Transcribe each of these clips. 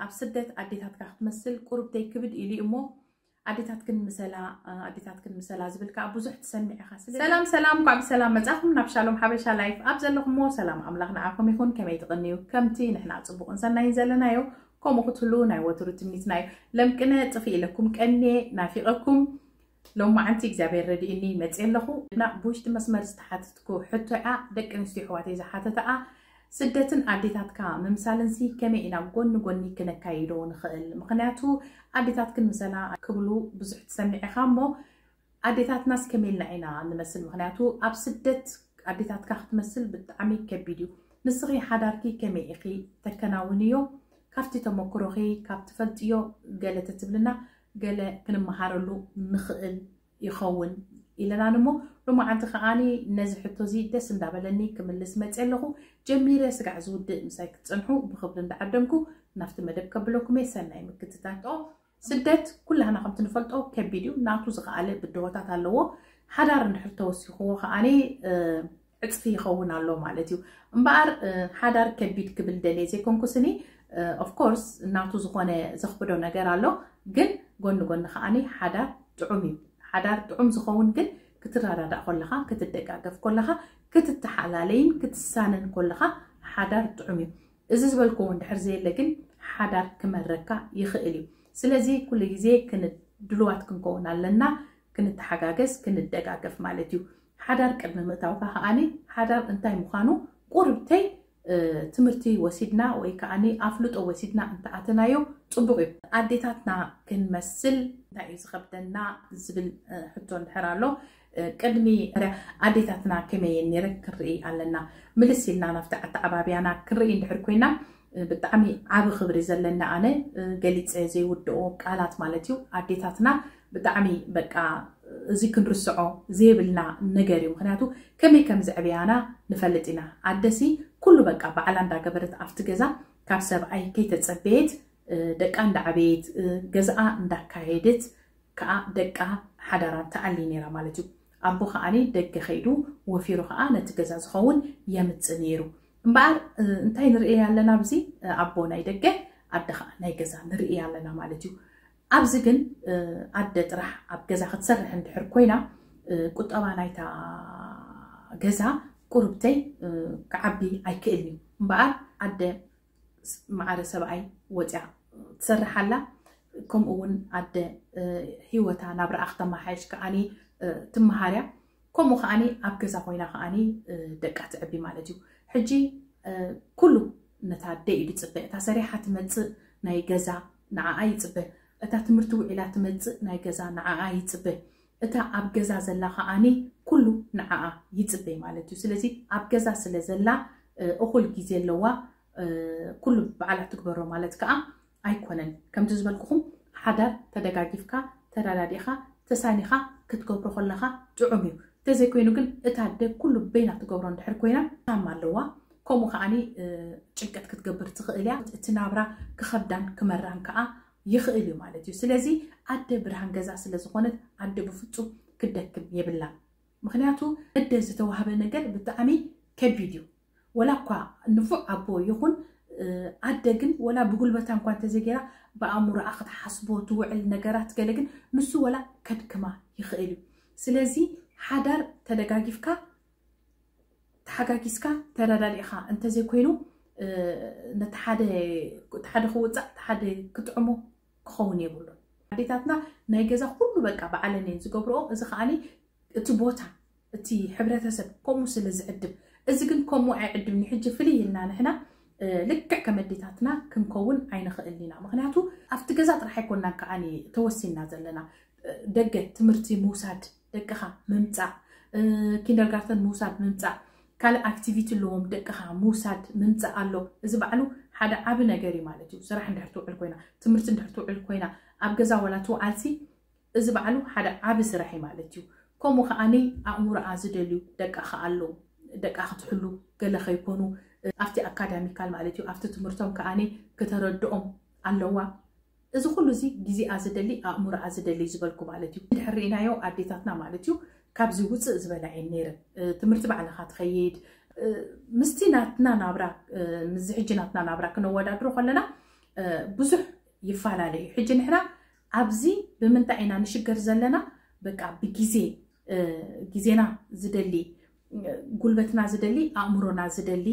ኣብ ስደት ኣዴታትካ ክትመስል ቁርብተይ ክብድ ኢሉ እሞ ኣዴታትክን ምሰላ ኣዴታትክን ምሰላ ዝብል ከዓ ብዙሕ ትሰምዕ ኢኻ። ስለ ሰላም ሰላም፣ እንኳዕ ብሰላም መጻኹም ናብ ሻሎም ሓበሻ ላይፍ። ኣብ ዘለኹሞ ሰላም ኣምላኽ ንዓኹም ይኹን። ከመይ ትቕንዩ? ከምቲ ንሕና ጽቡቕን ሰናይን ዘለናዮ ከምኡ ክትህሉ ናይ ወትሩ ትምኒትና እዩ። ለምቅነ ጥፍ ኢለኩም ቀንየ ናፊቐኩም። ሎማዓንቲ እግዚኣብሔር ረድእኒ መፅእ ኣለኹ። እና ብውሽጢ መስመር ዝተሓተትኩ ሕቶ እያ። ደቂ ኣንስትዮ ኣሕዋተይ ዝሓተተኣ ስደትን ኣዴታትካ ምምሳልንሲ ከመይ ኢና ጎኒ ጎኒ ክነካይዶ ንኽእል? ምኽንያቱ ኣዴታትክን ምሰላ ክብሉ ብዙሕ ትሰምዕ ኢኻ እሞ ኣዴታትናስ ከመይ ኢልና ኢና ንመስል? ምኽንያቱ ኣብ ስደት ኣዴታትካ ክትመስል ብጣዕሚ ከቢድ እዩ። ንስኺ ሓዳርኪ ከመይ ኢኺ ተከናውንዮ? ካብቲ ተመክሮኺ ካብ ትፈልጥዮ ገለ ተትብልና ገለ ክንመሃረሉ ንኽእል ይኸውን ኢለናን እሞ ሎማዓንቲ ከዓኒ ነዚ ሕቶ እዚ ደስ እንዳበለኒ ክምልስ መፅእ ኣለኹ። ጀሚረ ስጋዕ ዝውድእ ምሳይ ክትፀንሑ ብኽብሪ እንዳዓደምኩ ናብቲ መደብ ከብለኩም እየ። ሰናይ ምክትታል። ስደት ኩላህና ከምቲ ንፈልጦ ከቢድ እዩ። ናቱ ዝኸኣለ ብድሆታት ኣለዎ። ሓዳር እንድሕር ተወሲኽዎ ከዓኒ ዕፅፊ ይኸውን ኣሎ ማለት እዩ። እምበኣር ሓዳር ከቢድ ክብል ደልየ ዘይኮንኩስኒ ኦፍኮርስ ናቱ ዝኾነ ዘኽብዶ ነገር ኣሎ። ግን ጎኒ ጎኒ ከዓኒ ሓዳር ጥዑም እዩ። ሓዳር ጥዑም ዝኸውን ግን ክትረዳዳእ ከለኻ ክትደጋገፍ ከለኻ ክትተሓላለይን ክትሳነን ከለኻ ሓዳር ጥዑም እዩ። እዚ ዝበልክዎ እንድሕር ዘየለ ግን ሓዳር ክመረካ ይኽእል እዩ። ስለዚ ኩሉ ግዜ ድልዋት ክንከውን ኣለና። ክንተሓጋገዝ ክንደጋገፍ ማለት እዩ። ሓዳር ቅድሚ ምእታውካ ከዓኒ ሓዳር እንታይ ምዃኑ ቁርብተይ ትምህርቲ ወሲድና ወይ ከዓኒ ኣፍልጦ ወሲድና እንተኣተናዮ ፅቡቕ እዩ። ኣዴታትና ክንመስል እንታይ እዩ ዝኸብደና ዝብል ሕቶ እንድሕር ኣሎ ቅድሚ ኣዴታትና ከመይ ነይረ ክንርኢ ኣለና። ምልስ ኢልና ናብቲ ኣተዓባብያና ክንርኢ እንድሕር ኮይና ብጣዕሚ ዓቢ ክብሪ ዘለኒ ኣነ ገሊፀ ዘይውድኦ ቃላት ማለት እዩ። ኣዴታትና ብጣዕሚ በቃ እዚ ክንርስዖ ዘይብልና ነገር እዩ። ምክንያቱ ከመይ ከም ዘዕብያና ንፈልጥ ኢና። ኣደሲ ኩሉ በቃ ባዕላ እንዳገበረት ኣብቲ ገዛ ካብ ሰብኣይ ከይተፀበየት ደቃ እንዳዓበየት ገዝኣ እንዳካየደት ከዓ ደቃ ሓዳራ ተኣሊ ነይራ ማለት እዩ። ኣቦ ከዓኒ ደገ ከይዱ ወፊሩ ከዓ ነቲ ገዛ ዝኸውን የምፅእ ነይሩ። እምበኣር እንታይ ንርኢ ኣለና ኣብዚ ኣቦ ናይ ደገ ኣደ ከዓ ናይ ገዛ ንርኢ ኣለና ማለት እዩ። ኣብዚ ግን ኣደ ጥራሕ ኣብ ገዛ ክትሰርሕ እንድሕር ኮይና ቁጠባ ናይታ ገዛ ቁርብተይ ክዓቢ ኣይክእልን እዩ። እምበኣር ኣደ ማዕረ ሰብኣይ ወፅያ ትሰርሕ ኣላ። ከምኡ እውን ኣደ ሂወታ ናብራኣ ክተመሓየሽ ከዓኒ ትመሃርያ። ከምኡ ከዓኒ ኣብ ገዛ ኮይና ከዓኒ ደቃ ትዕቢ ማለት እዩ። ሕጂ ኩሉ ነታ ኣደ እዩ ዝፅበ። እታ ሰሪሓ ትመፅእ ናይ ገዛ ንዓኣ ይፅበ። እታ ትምህርቲ ውዒላ ትመፅእ ናይ ገዛ ንዓኣ ይፅበ። እታ ኣብ ገዛ ዘላ ከዓኒ ኩሉ ንዓኣ ይፅበ ማለት እዩ። ስለዚ ኣብ ገዛ ስለ ዘላ እኹል ግዜ ኣለዋ። ኩሉ ባዕላ ትግበሮ ማለት ከዓ ኣይኮነን። ከምቲ ዝበልኩኹም ሓዳር ተደጋጊፍካ ተረዳዲእኻ ተሳኒኻ ክትገብሮ ከለኻ ጥዑም እዩ። እንተዘይኮይኑ ግን እታ ኣደ ኩሉ በይና ትገብሮ እንድሕር ኮይና ታም ኣለዋ። ከምኡ ከዓኒ ጭንቀት ክትገብር ትኽእል እያ። እቲ ናብራ ክኸብዳን ክመራን ከዓ ይኽእል እዩ ማለት እዩ። ስለዚ ኣደ ብርሃን ገዛ ስለ ዝኾነት ኣደ ብፍፁም ክትደክም የብላን። ምክንያቱ ኣደ ዝተዋህበ ነገር ብጣዕሚ ከቢድ እዩ። ወላ እኳ ንፉዕ ኣቦ ይኹን ኣደ ግን ወላ ብጉልበታ እንኳ እንተዘይገይራ ብኣእምሮኣ ክትሓስቦ ትውዕል ነገራት ገለ ግን ንሱ ወላ ከድክማ ይኽእል እዩ። ስለዚ ሓዳር ተደጋጊፍካ ተሓጋጊዝካ ተረዳዲእኻ እንተዘይኮይኑ ነቲ ሓደ ክውፃእ ሓደ ክጥዕሞ ክኸውን የብሉን። ኣዴታትና ናይ ገዛ ኩሉ በቃ ባዕለን እየን ዝገብርኦ። እዚ ከዓኒ እቲ ቦታ እቲ ሕብረተሰብ ከምኡ ስለ ዝዕድም እዚ ግን ከምኡ ኣይዕድምን። ሕጂ ፍልይ ኢልና ንሕና ልክዕ ከም ኣዴታትና ክንከውን ኣይንኽእል ኢና። ምክንያቱ ኣብቲ ገዛ ጥራሕ ኣይኮንናን ከዓኒ ተወሲንና ዘለና። ደገ ትምህርቲ ምውሳድ፣ ደቅኻ ምምፃእ፣ ኪንደርጋርተን ምውሳድ ምምፃእ፣ ካልእ ኣክቲቪቲ ኣለዎም ደቅኻ ምውሳድ ምምፃእ ኣሎ። እዚ ባዕሉ ሓደ ዓቢ ነገር እዩ ማለት እዩ። ስራሕ እንድሕር ትውዕል ኮይና፣ ትምህርቲ እንድሕር ትውዕል ኮይና፣ ኣብ ገዛ ዋላ ትውዓልሲ እዚ ባዕሉ ሓደ ዓቢ ስራሕ እዩ ማለት እዩ። ከምኡ ከዓኒ ኣእምሮኣ ዝደልዩ ደቃ ከኣ ኣለዉ። ደቃ ክትሕሉ ገለ ከይኮኑ ኣብቲ ኣካዳሚካል ማለት እዩ ኣብቲ ትምህርቶም ከዓኒ ክተረድኦም ኣለዋ። እዚ ኩሉ እዚ ግዜኣ ዝደሊ ኣእምሮኣ ዝደሊ ዝበልኩ ማለት እዩ። እንድሕር ርኢናዮ ኣዴታትና ማለት እዩ ካብዚ ውፅእ ዝበላ እየን ነይረን። ትምህርቲ ባዕልኻ ትኸይድ ምስቲ ናትና ናብራ ምስዚ ሕጂ ናትና ናብራ ክነወዳድሮ ከለና ብዙሕ ይፈላለዩ። ሕጂ ንሕና ኣብዚ ብምንታይ ኢና ንሽገር ዘለና? በቃ ብግዜ፣ ግዜና ዝደሊ፣ ጉልበትና ዝደሊ፣ ኣእምሮና ዝደሊ፣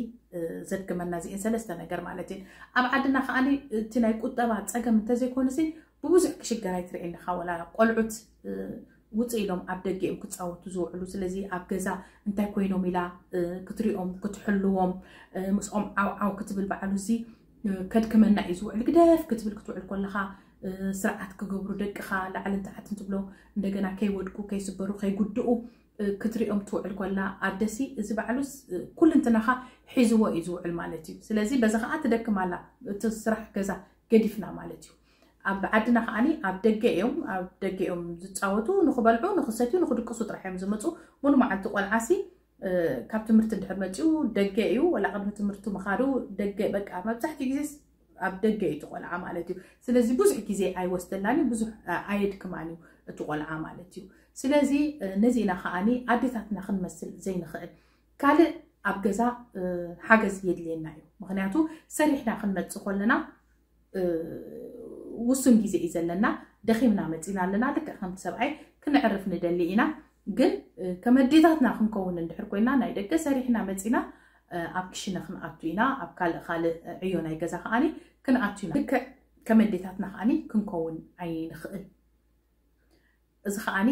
ዘድክመና እዚአን ሰለስተ ነገር ማለት እዩ። ኣብ ዓድና ከዓኒ እቲ ናይ ቁጠባ ፀገም እንተዘይኮኑሲ ብብዙሕ ክሽገር ኣይትርእየኒ ኢኻ። ወላ ቆልዑት ውፅእ ኢሎም ኣብ ደገ እዮም ክፃወቱ ዝውዕሉ። ስለዚ ኣብ ገዛ እንታይ ኮይኖም ኢላ ክትሪኦም ክትሕልዎም፣ ምስኦም ዓው ዓው ክትብል በዓሉ እዚ ከድክመና እዩ ዝውዕል። ግደፍ ክትብል ክትውዕል ከለኻ ስርዓት ክገብሩ ደቅኻ ላዕልን ታሕትን ትብሎ፣ እንደገና ከይወድቁ ከይስበሩ ከይጉድኡ ክትሪኦም ትውዕል ከላ ኣደሲ እዚ በዓሉስ ኩልንትናኻ ሒዝዎ እዩ ዝውዕል ማለት እዩ። ስለዚ በዚ ከዓ ትደክም ኣላ፣ እቲ ስራሕ ገዛ ገዲፍና ማለት እዩ። ኣብ ዓድና ከዓኒ ኣብ ደገ እዮም ኣብ ደገ እዮም ዝፃወቱ፣ ንክበልዑ ንክሰትዩ ንክድቅሱ ጥራሕ እዮም ዝመፁ። ሙሉ መዓልቲ ቆልዓሲ ካብ ትምህርቲ እንድሕር መፂኡ ደገ እዩ፣ ወላ ቅድሚ ትምህርቱ ምኻዱ ደገ፣ በቃ መብዛሕትኡ ግዜ ኣብ ደገ እዩ እቲ ቆልዓ ማለት እዩ። ስለዚ ብዙሕ ግዜ ኣይወስደላን እዩ፣ ብዙሕ ኣየድክማን እዩ እቲ ቆልዓ ማለት እዩ። ስለዚ ነዚ ኢና ከዓኒ ኣዴታትና ክንመስል ዘይንኽእል። ካልእ ኣብ ገዛ ሓገዝ የድልየና እዩ። ምክንያቱ ሰሪሕና ክንመፅእ ከለና ውሱን ግዜ እዩ ዘለና። ደኺምና መፂና ኣለና፣ ልክዕ ከምቲ ሰብኣይ ክነዕርፍ ንደሊ ኢና። ግን ከም ኣዴታትና ክንከውን እንድሕር ኮይና ናይ ደገ ሰሪሕና መፂና ኣብ ክሽነ ክንኣቱ ኢና፣ ኣብ ካልእ ካልእ ዕዮ ናይ ገዛ ከዓኒ ክንኣቱ ኢና። ልክዕ ከም ኣዴታትና ከዓኒ ክንከውን ኣይንኽእል። እዚ ከዓኒ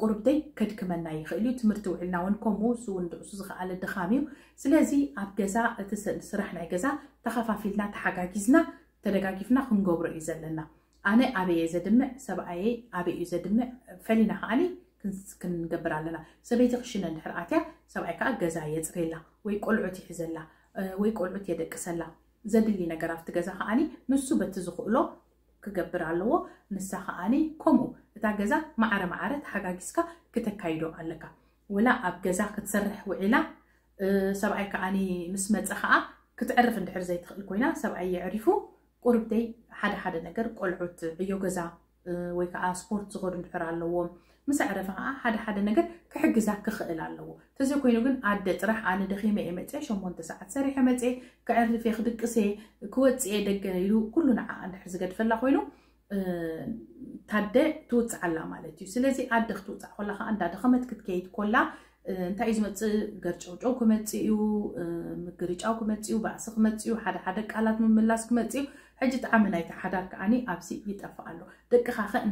ቁርብተይ ከድክመና ይኽእል እዩ። ትምህርቲ ውዕልና እውን ከምኡ፣ እሱ እውን ድዕሱ ዝኸኣለ ድኻም እዩ። ስለዚ ኣብ ገዛ እቲ ስራሕ ናይ ገዛ ተኸፋፊልና ተሓጋጊዝና ተደጋጊፍና ክንገብሮ እዩ ዘለና። ኣነ ኣበየ ዘድምዕ፣ ሰብኣየይ ኣበይ እዩ ዘድምዕ ፈሊና ከዓኒ ክንገብር ኣለና። ሰበይቲ ክሽነ እንድሕር ኣትያ ሰብኣይ ከዓ ገዛ የፅሬላ ወይ ቆልዑት ይሕዘላ ወይ ቆልዑት የደቅሰላ። ዘድሊ ነገር ኣብቲ ገዛ ከዓኒ ንሱ በቲ ዝኽእሎ ክገብር ኣለዎ። ንሳ ከዓኒ ከምኡ እታ ገዛ ማዕረ ማዕረ ተሓጋጊዝካ ክተካይዶ ኣለካ። ወላ ኣብ ገዛ ክትሰርሕ ውዒላ ሰብኣይ ከዓኒ ምስ መፀ ከዓ ክትዕርፍ እንድሕር ዘይትኽእል ኮይና ሰብኣይ የዕሪፉ ቁርብተይ ሓደ ሓደ ነገር ቆልዑት ዕዮ ገዛ ወይ ከዓ ስፖርት ዝኸዱ እንድሕር ኣለዎም ምስ ኣዕረፈ ከዓ ሓደ ሓደ ነገር ክሕግዛ ክኽእል ኣለዎ። ተዘይኮይኑ ግን ኣደ ጥራሕ ኣነ ደኺመ እየ መፅየ ሸሞንተ ሰዓት ሰሪሐ መፅየ ክዕርፍ እየ ክድቅስ እየ ክወፅእ እየ ደገ ኢሉ ኩሉ ንዓ እንድሕር ዝገድፈላ ኮይኑ ታደ ትውፅዓላ ማለት እዩ። ስለዚ ኣደ ክትውፃዕ ኮላ ከዓ እንዳደኸመት ክትከይድ ኮላ እንታይ እዩ ዝመፅእ? ገርጨውጨው ክመፅእ እዩ፣ ምግርጫው ክመፅእ እዩ፣ ባእሲ ክመፅእ እዩ፣ ሓደ ሓደ ቃላት ምምላስ ክመፅእ እዩ። ሕጂ ጣዕሚ ናይቲ ሓዳር ከዓኒ ኣብዚ ይጠፍእ ኣሎ። ደቅኻ ኸ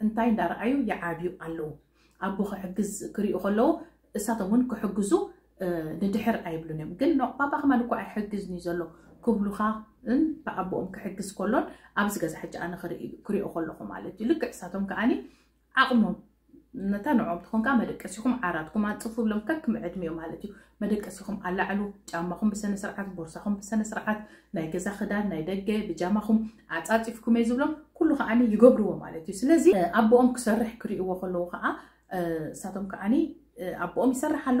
እንታይ እንዳረኣዩ ይዓብዩ ኣለዉ? ኣቦ ክሕግዝ ክሪኡ ከለዉ እሳቶም እውን ክሕግዙ ንድሕር ኣይብሉን እዮም። ግን ባባ ከማን እኮ ኣይሕግዝን እዩ ዘሎ ክብሉኻ ብኣቦኦም ክሕግዝ ከሎን ኣብዚ ገዛ ሕጂ ኣነ ክሪኦ ከለኹ ማለት እዩ። ልክዕ እሳቶም ከዓኒ ዓቕሞም ነታ ንዕኦም ትኾንካ መደቀሲኹም ዓራትኩም ኣንጽፉ ብሎም ከክም ዕድሚኡ ማለት እዩ። መደቀሲኹም ኣላዕሉ፣ ጫማኹም ብሰነ ስርዓት፣ ቦርሳኹም ብሰነ ስርዓት፣ ናይ ገዛ ክዳን ናይ ደገ ብጃማኹም ኣጻጺፍኩም እየ ዝብሎም ኩሉ ከዓኒ ይገብርዎ ማለት እዩ። ስለዚ ኣቦኦም ክሰርሕ ክርእይዎ ከለዉ ከዓ እሳቶም ከዓኒ ኣቦኦም ይሰርሕ ኣሎ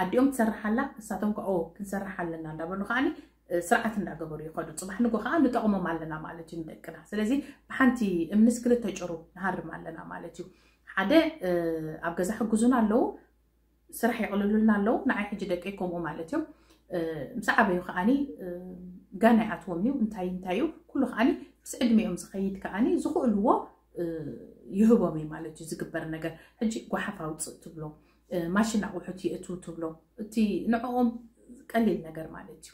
ኣዲኦም ትሰርሕ ኣላ እሳቶም ከዓ ክንሰርሕ ኣለና እንዳበሉ ከዓኒ ስርዓት እንዳገበሩ ይኸዱ። ፅባሕ ንጎ ከዓ ንጠቕሞም ኣለና ማለት እዩ ንደቅና። ስለዚ ብሓንቲ እምንስ ክልተ ጭሩ ንሃርም ኣለና ማለት እዩ። ሓደ ኣብ ገዛ ሕግዙና ኣለዉ፣ ስራሕ የቕልሉልና ኣለዉ። ንዓይ ሕጂ ደቀይ ከምኡ ማለት እዮም። ምስ ዓበዩ ከዓኒ ጋና ይኣትዎም እዩ እንታይ እንታይ እዩ ኩሉ ከዓኒ ምስ ዕድሚኦም ዝኸይድ ከዓኒ ዝኽእልዎ ይህቦም እዩ ማለት እዩ ዝግበር ነገር። ሕጂ ጓሓፍ ኣውፅእ ትብሎ፣ ማሽን ኣቑሑት የእትው ትብሎ፣ እቲ ንዕኦም ቀሊል ነገር ማለት እዩ።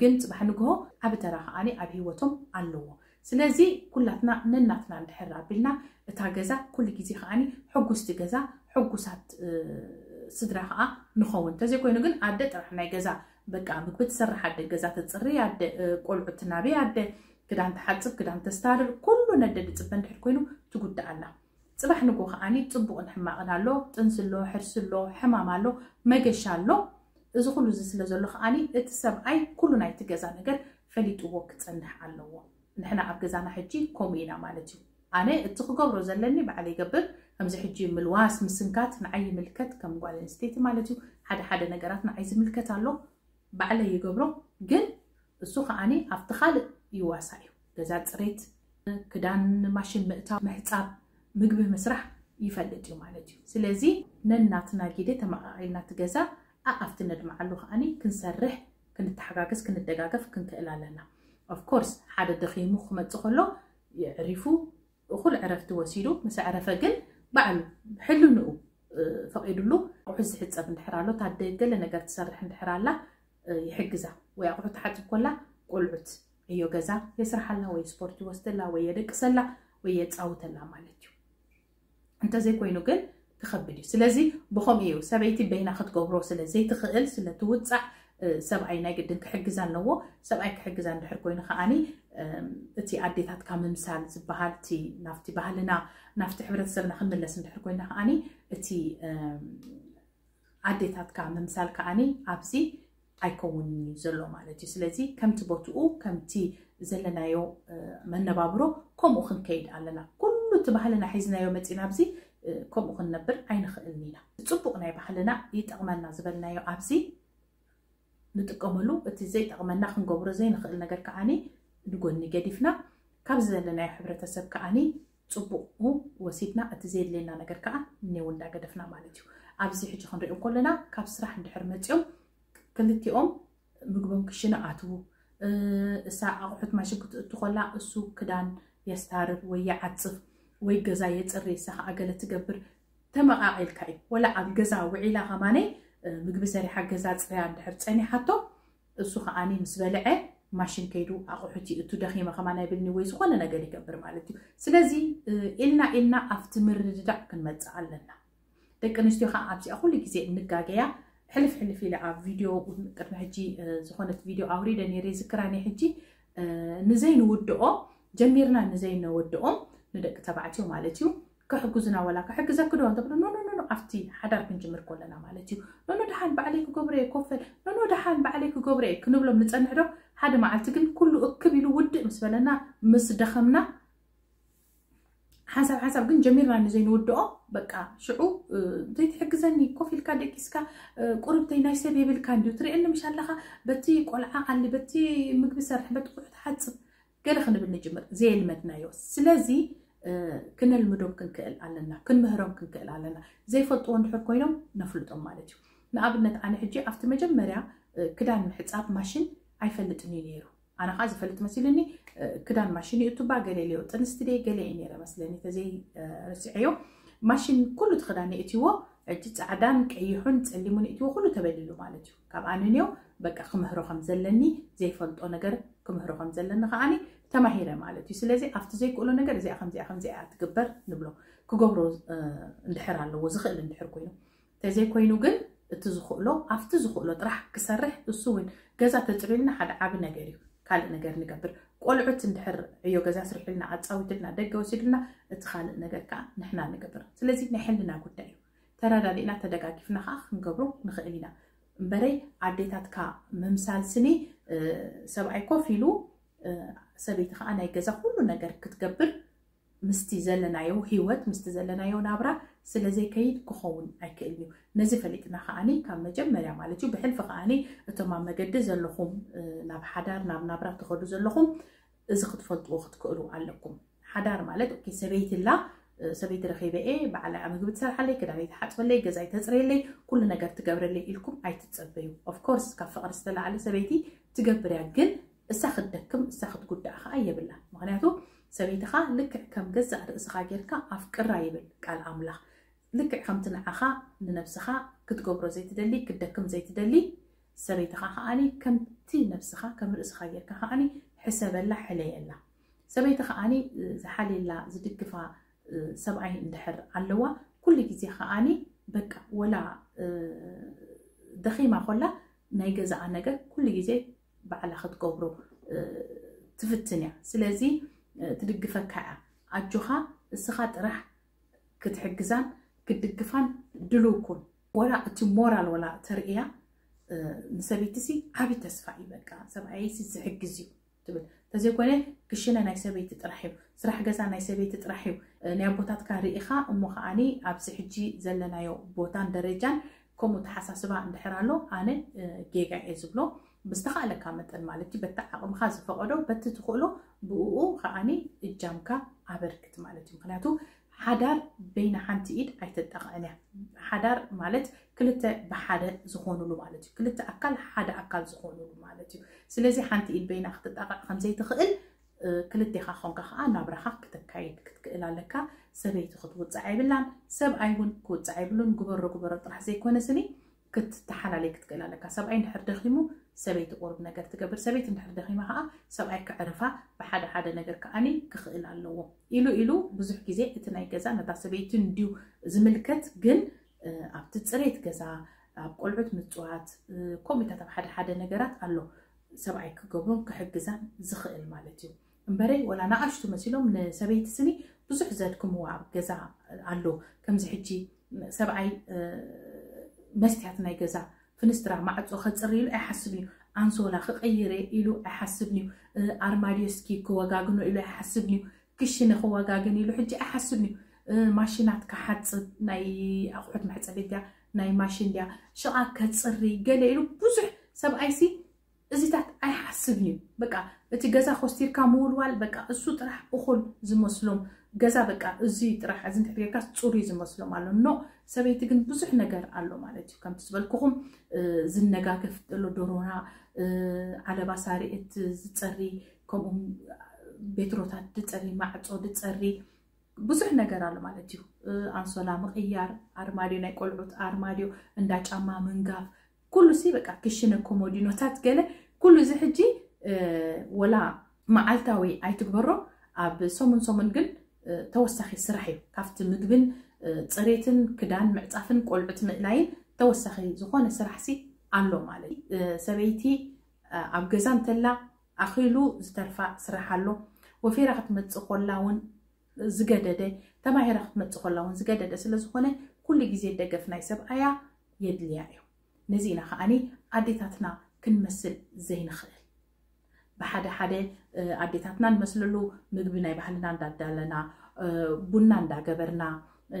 ግን ፅባሕ ንግሆ ዓብ ተራ ከዓኒ ኣብ ህይወቶም ኣለዎ። ስለዚ ኩላትና ነናትና እንድሕር ኣቢልና እታ ገዛ ኩሉ ግዜ ከዓኒ ሕጉስቲ ገዛ ሕጉሳት ስድራ ከዓ ንኸውን። እንተዘይኮይኑ ግን ኣደ ጥራሕ ናይ ገዛ በቃ ምግቢ ትሰርሕ ኣደ ገዛ ተፅሪ ኣደ ቆልዑ ትናቢ ኣደ ክዳን ትሓፅብ ክዳን ተስታርር ኩሉ ነደ ድፅበ እንድሕር ኮይኑ ትጉዳእ ኣላ። ፅባሕ ንጎ ከዓኒ ፅቡቕን ሕማቕን ኣሎ፣ ጥንሲ ኣሎ፣ ሕርሲ ኣሎ፣ ሕማም ኣሎ፣ መገሻ ኣሎ። እዚ ኩሉ እዚ ስለ ዘሎ ከዓኒ እቲ ሰብኣይ ኩሉ ናይቲ ገዛ ነገር ፈሊጥዎ ክፀንሕ ኣለዎ። ንሕና ኣብ ገዛና ሕጂ ከምኡ ኢና ማለት እዩ። ኣነ እቲ ክገብሮ ዘለኒ ባዕለ ይገብር። ከምዚ ሕጂ ምልዋስ ምስንካት ንዓይ ይምልከት ከም ጓል ኣንስተይቲ ማለት እዩ። ሓደ ሓደ ነገራት ንዓይ ዝምልከት ኣሎ ባዕለ ይገብሮ። ግን እሱ ከዓኒ ኣብቲ ካልእ ይዋሳ እዩ። ገዛ ፅሬት፣ ክዳን ማሽን ምእታው፣ ምሕፃብ፣ ምግቢ ምስራሕ ይፈልጥ እዩ ማለት እዩ። ስለዚ ነናትና ጊደ ተመቃቂልና እቲ ገዛ ኣኣፍቲ ነድምዓሉ ከዓኒ ክንሰርሕ ክንተሓጋገዝ ክንደጋገፍ ክንክእል ኣለና። Of course ሓደ ደኺሙ ክመጽእ ከሎ የዕሪፉ፣ እኹል ዕረፍቲ ወሲዱ ምስ ኣዕረፈ ግን ባዕሉ ሕልንኡ ፈቒዱሉ ኣቑሑ ዝሕጸብ እንድሕር ኣሎ፣ ታደ ገለ ነገር ትሰርሕ እንድሕር ኣላ ይሕግዛ። ወይ ኣቑሑ ትሓጽብ ኮላ ቆልዑት ዕዮ ገዛ የስርሓላ ወይ ስፖርት ይወስደላ ወይ የደቅሰላ ወይ የጻውተላ ማለት እዩ። እንተዘይኮይኑ ግን ክኸብድ እዩ። ስለዚ ብኸምኡ እዩ ሰበይቲ በይና ክትገብሮ ስለ ዘይትኽእል ስለ ትውጻዕ ሰብኣይ ናይ ግድን ክሕግዛ ኣለዎ። ሰብኣይ ክሕግዛ እንድሕር ኮይኑ ከዓኒ እቲ ኣዴታትካ ምምሳል ዝበሃል እቲ ናፍቲ ባህልና ናፍቲ ሕብረተሰብና ክንምለስ እንድሕር ኮይና ከዓኒ እቲ ኣዴታትካ ምምሳል ከዓኒ ኣብዚ ኣይከውንን እዩ ዘሎ ማለት እዩ። ስለዚ ከምቲ ቦትኡ ከምቲ ዘለናዮ መነባብሮ ከምኡ ክንከይድ ኣለና። ኩሉ እቲ ባህልና ሒዝናዮ መፂና ኣብዚ ከምኡ ክንነብር ኣይንኽእልን ኢና። ፅቡቕ ናይ ባህልና ይጠቕመና ዝበልናዮ ኣብዚ ንጥቀመሉ፣ እቲ ዘይጠቕመና ክንገብሮ ዘይንኽእል ነገር ከዓኒ ንጎኒ ገዲፍና ካብዚ ዘለናዮ ሕብረተሰብ ከዓኒ ፅቡቑ ወሲድና እቲ ዘየድልየና ነገር ከዓ እኔው እንዳገደፍና ማለት እዩ። ኣብዚ ሕጂ ክንሪኦ ከለና ካብ ስራሕ እንድሕር መፂኦም ክልቲኦም ምግቦም ክሽነ ኣትዉ፣ እሳ ኣቑሑት ማሽን ክትእቱ ከላ እሱ ክዳን የስታርር ወይ ይዓፅፍ ወይ ገዛ የፅሪ፣ እሳ ከዓ ገለ ትገብር። ተመቃቂልካ እዩ። ወላ ኣብ ገዛ ውዒላ ከማነይ ምግቢ ሰሪሓ ገዛ ፅርያ እንድሕር ፀኒሓቶ እሱ ከዓኒ ምስ በልዐ ማሽን ከይዱ ኣቑሑት ይእቱ፣ ደኺመ ከማን ኣይብልኒ ወይ ዝኾነ ነገር ይገብር ማለት እዩ። ስለዚ ኢልና ኢልና ኣብቲ ምርድዳእ ክንመፅእ ኣለና። ደቂ ኣንስትዮ ከዓ ኣብዚኣ ኩሉ ግዜ እንጋገያ። ሕልፍ ሕልፍ ኢለ ኣብ ቪድዮ ቅድሚ ሕጂ ዝኾነት ቪድዮ ኣውሪደ ነይረ፣ ዝክራ ናይ ሕጂ ንዘይንውድኦ ጀሚርና ንዘይነወድኦም ንደቂ ተባዕትዮ ማለት እዩ ክሕግዙና፣ ወላ ክሕግዘኪ ዶ እንተብሎ ኖ ኖ ኖ ኣብቲ ሓዳር ክንጅምር ከለና ማለት እዩ። ኖ ኖ ደሓን ባዕለይ ክገብሮ እየ ኮፈል፣ ኖ ኖ ደሓን ባዕለይ ክገብሮ እየ ክንብሎም ንፀንሕ ዶ? ሓደ መዓልቲ ግን ኩሉ እክብ ኢሉ ውድእ ምስ በለና ምስ ደኸምና ሓንሳብ ሓንሳብ ግን ጀሚርና ንዘይንውድኦ በቃ ሽዑ ዘይትሕግዘኒ ኮፍ ኢልካ ደቂስካ ቁርብተይ ናይ ሰብ የብልካ እንዲዩ ትርእየኒ ምሽ ኣለኻ በቲ ቆልዓ ኣሊ በቲ ምግቢ ሰርሕ በቲ ቁሑ ትሓፅብ ገለ ክንብል ንጅምር ዘየልመድናዮ። ስለዚ ክነልምዶም ክንክእል ኣለና፣ ክንምህሮም ክንክእል ኣለና። ዘይፈልጥዎ እንድሕር ኮይኖም ነፍልጦም ማለት እዩ። ንኣብነት ኣነ ሕጂ ኣብቲ መጀመርያ ክዳን ምሕፃብ ማሽን ኣይፈልጥን እዩ ነይሩ። ኣነ ከዓ ዝፈልጥ መሲሉኒ ክዳን ማሽን ይእቱባ ገለ ኢለዮ ጥንስቲ ደይ ገለ እዩ ነይረ መስለኒ ተዘይ ርስዐዮ። ማሽን ኩሉ እቲ ክዳን የእትዎ ሕጂ ፃዕዳን ቀይሑን ፀሊሙን የእትዎ ኩሉ ተበሊሉ ማለት እዩ። ካብ ኣነ ንዮ በቃ ክምህሮ ከም ዘለኒ ዘይፈልጦ ነገር ክምህሮ ከም ዘለኒ ከዓኒ ተማሂረ ማለት እዩ። ስለዚ ኣብቲ ዘይክእሎ ነገር እዚኣ ከምዚኣ ከምዚኣ ትግበር ንብሎ ክገብሮ እንድሕር ኣለዎ ዝኽእል እንድሕር ኮይኑ ተዘይኮይኑ ግን እቲ ዝኽእሎ ኣብቲ ዝኽእሎ ጥራሕ ክሰርሕ እሱ እውን ገዛ ተፅርዩልና ሓደ ዓቢ ነገር እዩ። ካልእ ነገር ንገብር ቆልዑት እንድሕር ዕዮ ገዛ ስርሑልና ኣፃዊትልና ደገ ወሲዱልና እቲ ካልእ ነገር ከዓ ንሕና ንገብር። ስለዚ ናይ ሕልና ጉዳይ እዩ። ተረዳዲእና ተደጋጊፍና ከዓ ክንገብሮ ንኽእል ኢና። እምበረይ ኣዴታትካ ምምሳል ስኒ ሰብኣይ ኮፍ ኢሉ ሰበይቲ ከዓ ናይ ገዛ ኩሉ ነገር ክትገብር ምስቲ ዘለናዮ ህይወት ምስቲ ዘለናዮ ናብራ ስለ ዘይከይድ ክኸውን ኣይክእልን እዩ። ነዚ ፈሊጥና ከዓኒ ካብ መጀመርያ ማለት እዩ ብሕልፊ ከዓኒ እቶም ኣብ መገዲ ዘለኹም ናብ ሓዳር ናብ ናብራ ትኸዱ ዘለኹም እዚ ክትፈልጥዎ ክትክእሉ ኣለኩም። ሓዳር ማለት ኦኬ ሰበይቲ ላ ሰበይቲ ረኺበ እየ ባዕላ ምግቢ ትሰርሓለይ ክዳነይ ትሓፅበለይ ገዛይ ተፅረየለይ ኩሉ ነገር ትገብረለይ ኢልኩም ኣይትፀበዩ። ኦፍኮርስ ካብ ፍቕሪ ዝተላዓለ ሰበይቲ ትገብር እያ ግን እሳ ክትደክም እሳ ክትጉዳእ ከዓ የብላ። ምክንያቱ ሰበይትኻ ልክዕ ከም ገዛእ ርእስኻ ጌርካ ኣፍቅራ ይብል ቃል ኣምላኽ። ልክዕ ከምቲ ንዓኻ ንነብስኻ ክትገብሮ ዘይትደሊ ክትደክም ዘይትደሊ ሰበይትኻ ከዓኒ ከምቲ ነብስኻ ከም ርእስኻ ጌርካ ከዓኒ ሕሰበላ ሕለየላ። ሰበይቲ ከዓኒ ዝሓልየላ ዝድግፋ ሰብኣይ እንድሕር ኣለዋ ኩሉ ግዜ ከዓኒ በቃ ወላ ደኺማ ኮላ ናይ ገዛኣ ነገር ኩሉ ግዜ ባዕላ ክትገብሮ ትፍትን እያ። ስለዚ ትድግፈካ እያ። ኣጆኻ እስኻ ጥራሕ ክትሕግዛን ክትድግፋን ድልው ኩን። ወላ እቲ ሞራል ወላ ተርእያ ንሰበይቲ ሲ ዓቢ ተስፋ እዩ። በቃ ሰብኣየይ ሲ ዝሕግዝ እዩ ትብል። ተዘይኮነ ክሽነ ናይ ሰበይቲ ጥራሕ እዩ፣ ስራሕ ገዛ ናይ ሰበይቲ ጥራሕ እዩ። ናይ ኣቦታትካ ርኢኻ እሞ ከዓኒ ኣብዚ ሕጂ ዘለናዮ ቦታን ደረጃን ከምኡ ተሓሳስባ እንድሕር ኣሎ ኣነ ጌጋ እየ ዝብሎ። ብዝተኻእለካ መጠን ማለት እዩ በቲ ዓቕምኻ ዝፈቐዶ በቲ ትኽእሎ ብእኡ ከዓኒ እጃምካ ኣበርክት ማለት እዩ። ምክንያቱ ሓዳር በይና ሓንቲ ኢድ ኣይተጣቕዕን እያ። ሓዳር ማለት ክልተ ብሓደ ዝኾኑሉ ማለት እዩ። ክልተ ኣካል ሓደ ኣካል ዝኾኑሉ ማለት እዩ። ስለዚ ሓንቲ ኢድ በይና ክትጣቕዕ ከም ዘይትኽእል፣ እ፣ ክልቴኻ ኾንካ ከዓ ናብራኻ ክተካይድ ክትክእል ኣለካ። ሰበይቲ ክትውፅዕ ኣይብላን፣ ሰብኣይ እውን ክውፅዕ ኣይብሉን። ግበሮ ግበሮ ጥራሕ ዘይኮነ ስኒ ክትተሓላለይ ክትክእል ኣለካ። ሰብኣይ እንድሕር ደኺሙ ሰበይቲ ቁሩብ ነገር ትገብር፣ ሰበይቲ እንድሕር ደኺማ ከዓ ሰብኣይ ከዕርፋ ብሓደ ሓደ ነገር ከዓኒ ክኽእል ኣለዎ። ኢሉ ኢሉ ብዙሕ ግዜ እቲ ናይ ገዛ ነታ ሰበይቲ እንድዩ ዝምልከት፣ ግን እ፣ ኣብቲ ፅሬት ገዛ፣ ኣብ ቆልዑት ምፅዋት፣ እ፣ ከምኡታት ኣብ ሓደ ሓደ ነገራት ኣሎ ሰብኣይ ክገብሮን ክሕግዛን ዝኽእል ማለት እዩ። እምበረይ ወላ ንኣሽቱ መሲሎም ንሰበይቲ ስኒ ብዙሕ ዘድክምዋ ኣብ ገዛ ኣሎ። ከምዚ ሕጂ ሰብኣይ፣ እ፣ መስትያት ናይ ገዛ ፍንስትራ ማዕፆ ከፅሪ ኢሉ ኣይሓስብን እዩ። ኣንሶላ ክቕይር እየ ኢሉ ኣይሓስብን እዩ። እ፣ ኣርማድዮ እስኪ ክወጋግኖ ኢሉ ኣይሓስብን እዩ። ክሽነ ክወጋግን ኢሉ ሕጂ ኣይሓስብን እዩ። እ፣ ማሽናት ክሓፅብ፣ ናይ ኣቑሑት መሕፀቢ ድያ፣ ናይ ማሽን ድያ፣ ሽቓ ከፅሪ ገለ ኢሉ ብዙሕ ሰብኣይሲ እዚታት ኣይሓስብን እዩ። በቃ እቲ ገዛ ኮስቲርካ ምውልዋል በቃ እሱ ጥራሕ እኹል ዝመስሎም፣ ገዛ በቃ እዚ ጥራሕ እዚ እንድሕር ጌርካ ፅሩይ ዝመስሎም ኣሎ። ኖ፣ ሰበይቲ ግን ብዙሕ ነገር ኣሎ ማለት እዩ። ከምቲ ዝበልኩኹም፣ እ፣ ዝነጋገፍ ዘሎ ዶሮና፣ እ፣ ዓለባ ሳርየት ዝፀሪ፣ ከምኡ ቤትሮታት ድፀሪ፣ ማዕፆ ድፀሪ፣ ብዙሕ ነገር ኣሎ ማለት እዩ። እ፣ ኣንሶላ ምቕያር፣ ኣርማድዮ፣ ናይ ቆልዑት ኣርማድዮ፣ እንዳ ጫማ ምንጋፍ፣ ኩሉ ሲ በቃ ክሽነ ኮሞዲኖታት ገለ ኩሉ እዚ ሕጂ፣ እ፣ ወላ መዓልታዊ ኣይትግበሮ፣ ኣብ ሰሙን ሰሙን ግን፣ እ፣ ተወሳኺ ስራሕ እዩ። ካብቲ ምግብን፣ እ፣ ፅሬትን ክዳን ምዕፃፍን ቆልዑት ምእላይን ተወሳኺ ዝኾነ ስራሕ ሲ ኣሎ ማለት እዩ። እ፣ ሰበይቲ፣ እ፣ ኣብ ገዛ እንተላ ኣኺሉ ዝተርፋ ስራሕ ኣሎ። ወፊራ ክትመፅእ ኮላ እውን ዝገደደ፣ ተማሂራ ክትመፅእ ኮላ እውን ዝገደደ ስለ ዝኾነ ኩሉ ግዜ ደገፍ ናይ ሰብኣያ የድልያ እዩ። ነዚ ኢና ከዓኒ ኣዴታትና ክንመስል ዘይንኽእል። ብሓደ ሓደ፣ እ፣ ኣዴታትና ንመስለሉ ምግቢ ናይ ባህልና እንዳዳለና፣ እ፣ ቡና እንዳገበርና፣ እ፣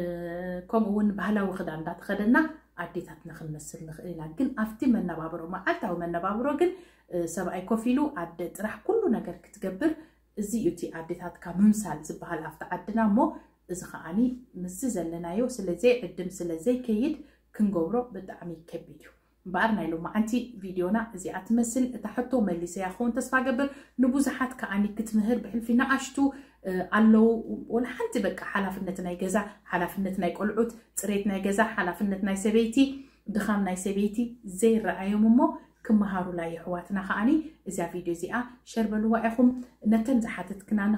ከምኡ እውን ባህላዊ ክዳን እንዳተኸደና ኣዴታትና ክንመስል ንኽእል ኢና። ግን ኣብቲ መነባብሮ፣ መዓልታዊ መነባብሮ ግን፣ እ፣ ሰብኣይ ኮፍ ኢሉ ኣደ ጥራሕ ኩሉ ነገር ክትገብር፣ እዚ እዩ እቲ ኣዴታትካ ምምሳል ዝበሃል ኣብቲ ዓድና። እሞ እዚ ከዓኒ ምስዚ ዘለናዮ ስለ ዘይዕድም ስለ ዘይከይድ ክንገብሮ ብጣዕሚ ከቢድ እዩ። እምበኣር ናይ ሎማዓንቲ ቪድዮና እዚኣ ትመስል። እታ ሕቶ መሊሰያ ክኸውን ተስፋ ገብር። ንብዙሓት ከዓኒ ክትምህር ብሕልፊ ንኣሽቱ፣ እ፣ ኣለዉ። ወላ ሓንቲ በቃ ሓላፍነት ናይ ገዛ፣ ሓላፍነት ናይ ቆልዑት፣ ፅሬት ናይ ገዛ፣ ሓላፍነት ናይ ሰበይቲ፣ ድኻም ናይ ሰበይቲ ዘይረኣዮም እሞ ክመሃሩላ የሕዋትና ከዓኒ እዛ ቪድዮ እዚኣ ሸር በልዋ ኢኹም። ነተን ዝሓተትክናኒ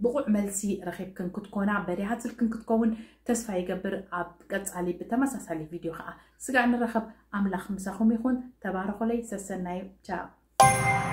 ብቑዕ መልሲ ረኺብክን ክትኮና በሪሃት ስልክን ክትከውን ተስፋ ይገብር። ኣብ ቀጻሊ ብተመሳሳሊ ቪድዮ ከኣ ስጋዕ ንራኸብ። ኣምላኽ ምሳኹም ይኹን። ተባረኹለይ። ሰሰናዩ። ቻው።